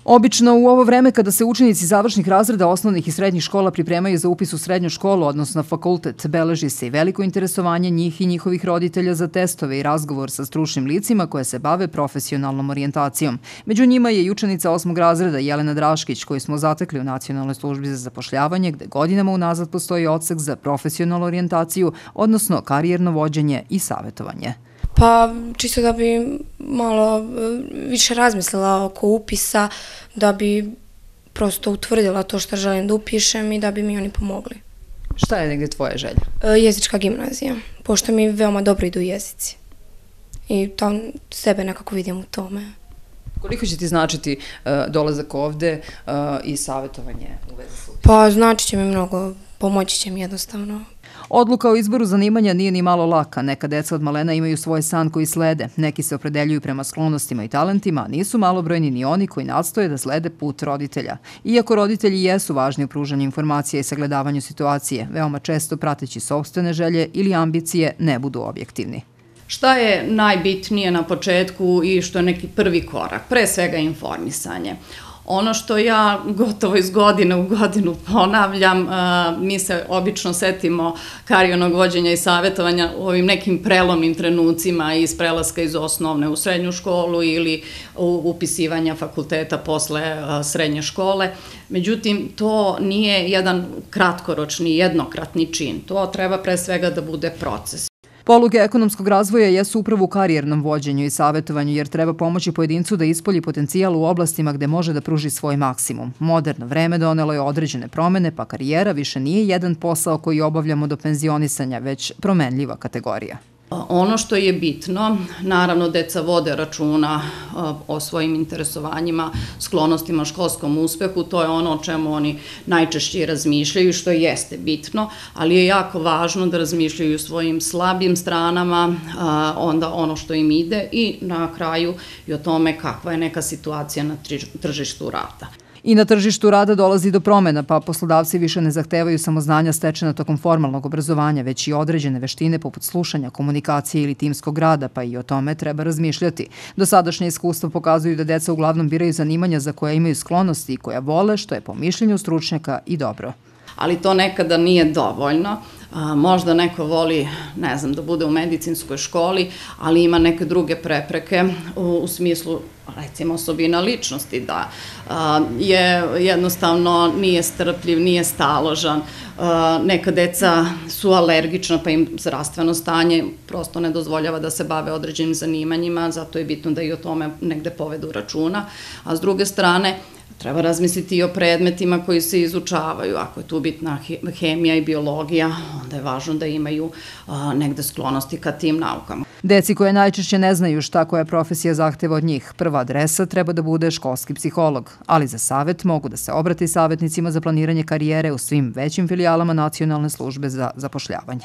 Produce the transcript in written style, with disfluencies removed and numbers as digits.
Obično u ovo vreme kada se učenici završnih razreda osnovnih i srednjih škola pripremaju za upis u srednju školu, odnosno fakultet, beleži se i veliko interesovanje njih i njihovih roditelja za testove i razgovor sa stručnim licima koje se bave profesionalnom orijentacijom. Među njima je i učenica 8. razreda Jelena Draškić, koju smo zatekli u Nacionalnoj službi za zapošljavanje, gde godinama unazad postoji odsek za profesionalnu orijentaciju, odnosno karijerno vođenje i savjetovanje. Pa čisto da bi malo više razmislila oko upisa, da bi prosto utvrdila to što želim da upišem i da bi mi oni pomogli. Šta je negdje tvoja želja? Jezička gimnazija, pošto mi veoma dobro idu jezici. I tam sebe nekako vidim u tome. Koliko će ti značiti dolazak ovde i savjetovanje u vezi s upisom? Pa znači će mi mnogo, pomoći će mi jednostavno. Odluka o izboru zanimanja nije ni malo laka. Neka deca od malena imaju svoj san koji slede. Neki se opredeljuju prema sklonostima i talentima, a nisu malobrojni ni oni koji nastoje da slede put roditelja. Iako roditelji jesu važni u pružanju informacija i sagledavanju situacije, veoma često prateći sopstvene želje ili ambicije ne budu objektivni. Šta je najbitnije na početku i što je neki prvi korak? Pre svega informisanje. Ono što ja gotovo iz godine u godinu ponavljam, mi se obično setimo karijernog vođenja i savjetovanja u ovim nekim prelomnim trenucima iz prelaska iz osnovne u srednju školu ili upisivanja fakulteta posle srednje škole. Međutim, to nije jedan kratkoročni, jednokratni čin. To treba pre svega da bude proces. Poluge ekonomskog razvoja jesu upravo u karijernom vođenju i savjetovanju, jer treba pomoći pojedincu da ispolji potencijal u oblastima gde može da pruži svoj maksimum. Moderno vreme donelo je određene promene, pa karijera više nije jedan posao koji obavljamo do penzionisanja, već promenljiva kategorija. Ono što je bitno, naravno deca vode računa o svojim interesovanjima, sklonostima, školskom uspehu, to je ono o čemu oni najčešće razmišljaju, što jeste bitno, ali je jako važno da razmišljaju o svojim slabim stranama, onda ono što im ide i na kraju i o tome kakva je neka situacija na tržištu rada. I na tržištu rada dolazi do promena, pa poslodavci više ne zahtevaju samo znanja stečena tokom formalnog obrazovanja, već i određene veštine poput slušanja, komunikacije ili timskog rada, pa i o tome treba razmišljati. Dosadašnje iskustva pokazuju da deca uglavnom biraju zanimanja za koja imaju sklonosti i koja vole, što je po mišljenju stručnjaka i dobro. Ali to nekada nije dovoljno. Možda neko voli, ne znam, da bude u medicinskoj školi, ali ima neke druge prepreke u smislu, recimo, osobina ličnosti, da je jednostavno nije strpljiv, nije staložan. Neka deca su alergična, pa im zdravstveno stanje prosto ne dozvoljava da se bave određenim zanimanjima, zato je bitno da i o tome negde povedu računa. A s druge strane, treba razmisliti i o predmetima koji se izučavaju. Ako je tu bitna hemija i biologija, onda je važno da imaju negde sklonosti ka tim naukama. Deci koje najčešće ne znaju šta koja profesija zahteva od njih, prva adresa treba da bude školski psiholog, ali za savjet mogu da se obrate savjetnicima za planiranje karijere u svim većim filijalama Nacionalne službe za zapošljavanje.